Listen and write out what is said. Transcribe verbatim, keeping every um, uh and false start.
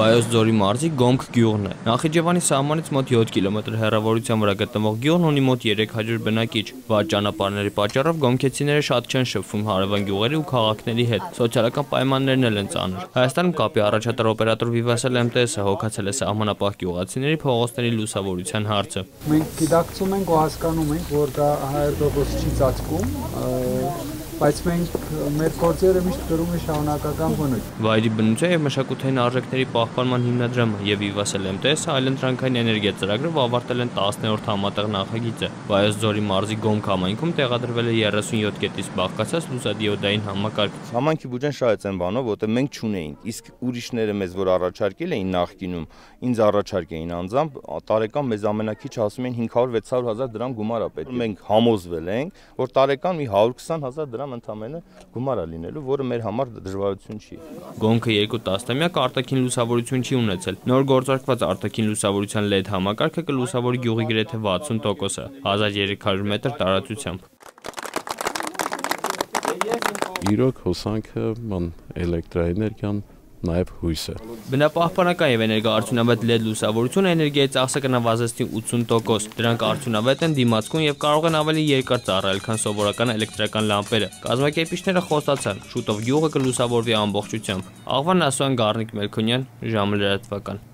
Վայոց ձորի մարզի Գոմք գյուղն է։ Նախիջևանի սահմանից մոտ յոթ կիլոմետր հեռավորության վրա գտնվող գյուղն ունի մոտ երեք հարյուր բնակիչ։ Վատ ճանապարհների պատճառով գոմքեցիները շատ չեն շփվում հարևան գյուղերի ու քաղաքների հետ։ Սոցիալական պայմաններն էլ են ծանր։ Հայաստանում կապի առաջատար օպերատոր Vivatel M T S-ը հոգացել է սահմանապահ գյուղացիների փողոցների լուսավորության հարցը։ Մենք գիտակցում ենք ու հասկանում ենք, որ դա հարյուր տոկոս չի ծածկում, բայց մենք մեր գործերը միշտ կրում ենք շարունակական բնույթ։ Վայրի բնության եւ մշակութային արժեքների պահպանման հիմնադրամը եւ Vivatel M T S-ը այլընտրանքային էներգիա ծրագրով ավարտել են տասներորդ համատեղ նախագիծը։ Վայոց ձորի մարզի Գոմք համայնքում տեղադրվել է երեսունյոթ կետից բաղկացած լուսադիոդային համակարգ։ Համայնքի բյուջեն շատ են բանով, որտեղ մենք չունեինք, իսկ ուրիշները մեզ որ առաջարկել էին նախկինում, ինձ առաջարկ էին անձամբ, տարեկան մեզ ամենակիչ ասում էին հինգ հարյուր վեց հարյուր հազար դրամ գումար է պետք։ Մենք համոզվել ենք, որ տարեկան մի հարյուր քսան հազար դրամ ընդամենը գումար է լինելու, որը մեր համար դժվարություն չի։ Գոմքը երկու տասնամյակ արտաքին լուսավորություն չի ունեցել։ Նոր գործարկված արտաքին լուսավորության L E D համակարգը կլուսավորի գյուղի գրեթե վաթսուն տոկոսը, հազար երեք հարյուր մետր տարածությամբ։ Իրոք հոսանքը, ման էլեկտրաէներգիան, նաև հույսը։ Բնապահպանական եւ էներգոարդյունավետ L E D լուսավորությունը էներգիայի ծախսը կնվազեցնի ութսուն տոկոս։ Դրանք արդյունավետ են, դիմացկուն եւ կարող են ավելի երկար ծառայել, քան սովորական էլեկտրական լամպերը։ Կազմակերպիչները խոստացան, շուտով գյուղը կլուսավորվի ամբողջությամբ։ Աղվան Ասոյան, Գառնիկ Մելքոնյան, ժամը լրատվական։